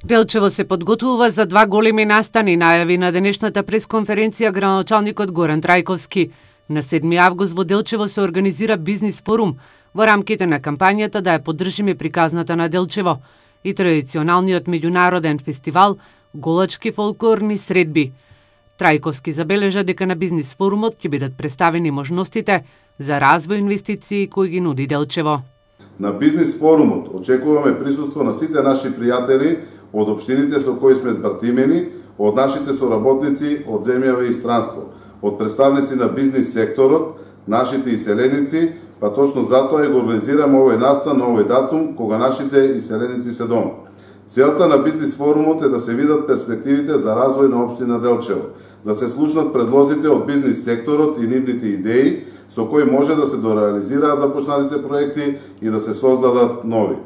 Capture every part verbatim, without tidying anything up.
Делчево се подготвува за два големи настани, најави на денешната пресконференција градоначалникот Горан Трајковски. На седми август во Делчево се организира бизнис форум во рамките на кампањата да ја поддржиме приказната на Делчево и традиционалниот меѓународен фестивал Голачки фолклорни средби. Трајковски забележа дека на бизнис форумот ќе бидат представени можностите за развој инвестиции кои ги нуди Делчево. На бизнис форумот очекуваме присуство на сите наши пријатели од општините со кои сме збратимени, од нашите соработници од земјава и странство, од представници на бизнис секторот, нашите иселеници, па точно затоа и го организираме овој настан на овој датум кога нашите иселеници се дома. Целта на бизнис форумот е да се видат перспективите за развој на општина Делчево, да се слушнат предлозите од бизнис секторот и нивните идеи со кои може да се дореализираат започнатите проекти и да се создадат нови.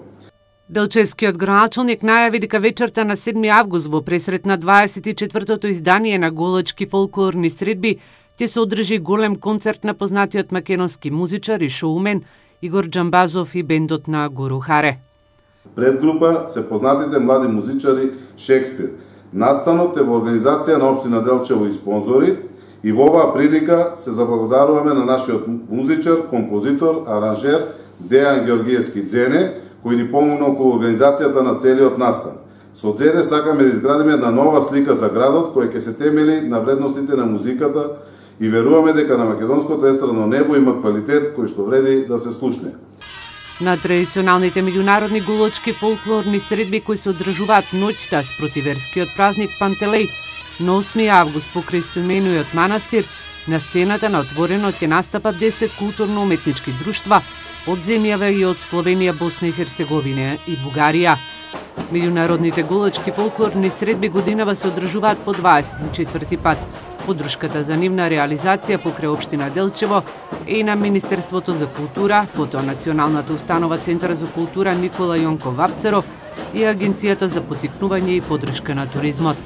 Делчевскиот градоначалник најави дека вечерта на седми август во пресрет на дваесет и четвртото издание на Голачки фолклорни средби ќе се одржи голем концерт на познатиот македонски музичар и шоумен Игор Џамбазов и бендот на Гуру Харе. Пред група се познатите млади музичари Шекспир. Настанот е во организација на општина Делчево и спонзори и во оваа прилика се заблагодаруваме на нашиот музичар, композитор, аранжер Дејан Георгиевски Дзене, кој ни помогна околу организацијата на целиот настан. Со Дзене сакаме да изградиме една нова слика за градот која ќе се темели на вредностите на музиката и веруваме дека на македонското естрадно небо има квалитет кој што вреди да се слушне. На традиционалните меѓународни голачки фолклорни средби кои се одржуваат ноќта спроти верскиот празник Пантелеј на осми август покрај истоимениот манастир, на сцената на отворено ќе настапат десет културно-уметнички друштва од земјава и од Словенија, Босна и Херцеговина и Бугарија. Меѓународните голачки фолклорни средби годинава се одржуваат по дваесет и четврти пат. Подршката за нивна реализација покрај општина Делчево е и на Министерството за култура, потоа Националната установа Центар за култура Никола Јонков Вапцаров и Агенцијата за поттикнување и поддршка на туризмот.